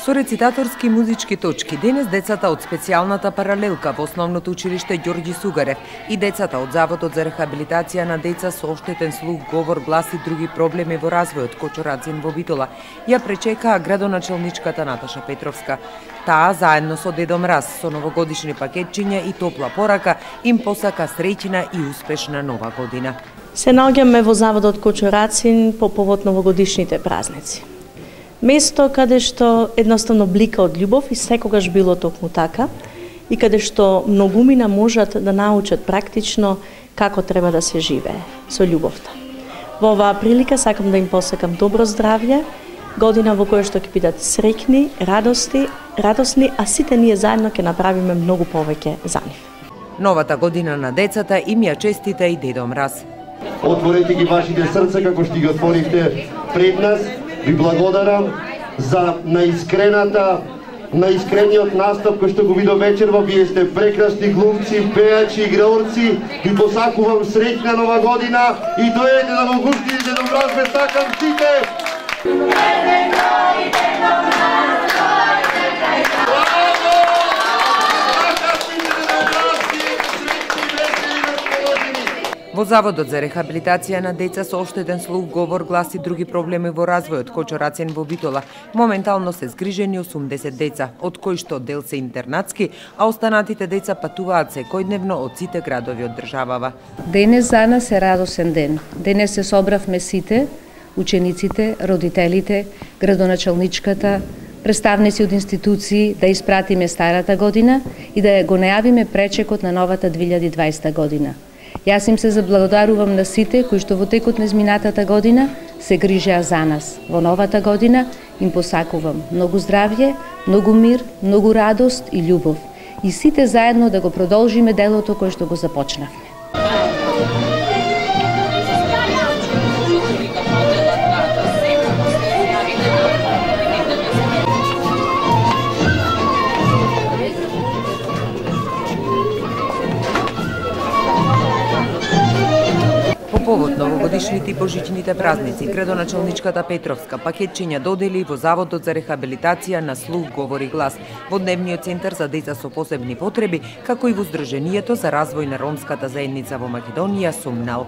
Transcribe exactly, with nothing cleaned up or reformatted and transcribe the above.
Со рецитаторски и музички точки денес децата од специјалната паралелка во основното училиште Ѓорѓи Сугарев и децата од Заводот за рехабилитација на деца со оштетен слух, говор, глас и други проблеми во развојот Кочо Рацин во Битола ја пречекаа градоначалничката Наташа Петровска. Таа заедно со Дедо Мраз со новогодишни пакетчиња и топла порака им посака среќна и успешна нова година. Се наоѓаме во Заводот Кочо Рацин по повод новогодишните празници. Место каде што едноставно блика од љубов и секогаш било токму така и каде што многумина можат да научат практично како треба да се живее со љубовта. Во оваа прилика сакам да им посакам добро здравје, година во која што ќе бидат среќни, радости, радосни, а сите ние заедно ќе направиме многу повеќе за нив. Новата година на децата им ја честита и Дедо Мраз. Отворете ги вашите срца како што ги отворивте пред нас. Ви благодарам за наискрената, наискрениот настап кој што го видов вечерва. Вие сте прекрасни глумци, пејачи, играорци. Ви посакувам среќна нова година и дојдете да го густите Дедо Мраз, ве сакам сите. Во Заводот за рехабилитација на деца со оштетен слух, говор, глас и други проблеми во развојот Кочо Рацин во Битола моментално се згрижени осумдесет деца, од кои што дел се интернатски, а останатите деца патуваат секојдневно од сите градови од државава. Денес за нас е радосен ден. Денес се собравме сите, учениците, родителите, градоначалничката, представници од институции да испратиме старата година и да го најавиме пречекот на новата две илјади и дваесета година. Јас им се заблагодарувам на сите кои што во текот на изминатата година се грижеа за нас. Во новата година им посакувам многу здравје, многу мир, многу радост и љубов. И сите заедно да го продолжиме делото кое што го започнавме. По повод новогодишните и божичните празници, градоначалничката Петровска пакетчиња додели во Заводот за рехабилитација на слух, говор и глас, во Дневниот центар за деца со посебни потреби, како и во Здруженијето за развој на ромската заедница во Македонија Сумнал.